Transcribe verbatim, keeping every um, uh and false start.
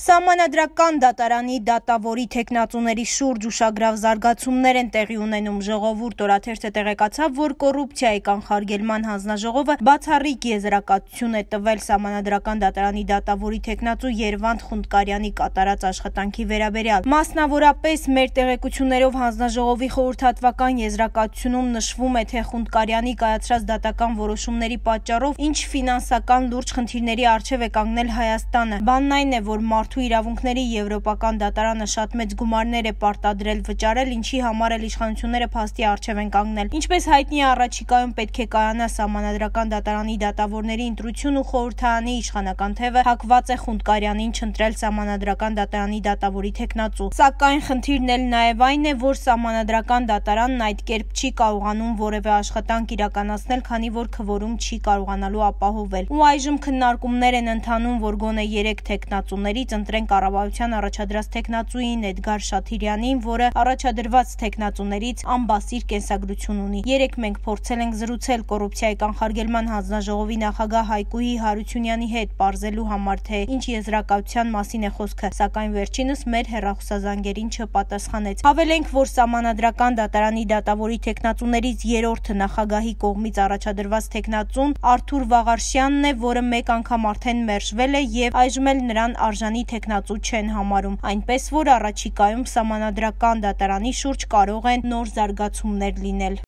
Սահմանադրական դատարանի դատավորի թեկնածուների շուրջ ուշագրավ զարգացումներ են տեղի ունենում։ Ժողովուրդ օրաթերթը տեղեկացավ, որ կոռուպցիայի կանխարգելման հանձնաժողովը բացառիկ եզրակացություն է տվել Սահմանադրական դատարանի դատավորի թեկնածու Երվանդ Խունդկարյանի կատարած աշխատանքի վերաբերյալ։ Մասնավորապես, մեր տեղեկություններով հանձնաժողովի խորհրդատվական եզրակացությունում նշվում է, թե Խունդկարյանի կայացրած դատական որոշումների պատճառով ինչ ֆինանսական լուրջ խնդիրների առջև է կանգնել Հայաստանը։ Բանն այն է, որ մարդու իրավունքների եվրոպական դատարանը շատ մեծ գումարներ է պարտադրել վճարել, ինչի համար էլ իշխանությունները փաստի առջև են կանգնել։ Ինչպես հայտնի է, առաջիկայում պետք է կայանա Սահմանադրական դատարանի դատավորների ընտրություն ու խորհրդարանի իշխանական թևը հակված է Խունդկարյանին չընտրել Սահմանադրական դատարանի դատավորի թեկնածու։ Սակայն խնդիրն էլ նաև այն է, որ Սահմանադրական դատարանն այդ կերպ չի կարողանում որևէ աշխատանք իրականացնել, քանի որ քվորում չի կարողանալու ապահովել։ Ու այժմ քննարկումներ են ընթանում, որ գոնե երեք թեկնածուներից ընտրեն կառավարության առաջադրած թեկնածուին Էդգար Շաթիրյանին, որը առաջադրված թեկնածուներից անբասիր կենսագրություն ունի։ Երեկ մենք փորձել ենք զրուցել կոռուպցիայի կանխարգելման հանձնաժողովի նախագահ Հայկուհի Հարությունյանի հետ, պարզելու համար, թե ինչ եզրակացության մասին է խոսքը, սակայն վերջինս մեր հեռախոսազանգերին չպատասխանեց։ Հավելենք, որ Սահմանադրական դատարանի դատավորի թեկնածուներից երրորդը նախագահի կողմից առաջադրված թեկնածուն Արթուր Վաղարշյանն է, որը մեկ անգամ արդեն մերժվել է եւ այժմ էլ նրան արժանի թեկնածու չեն համարում, այնպես որ առաջիկայում Սահմանադրական դատարանի շուրջ կարող են նոր զարգացումներ լինել։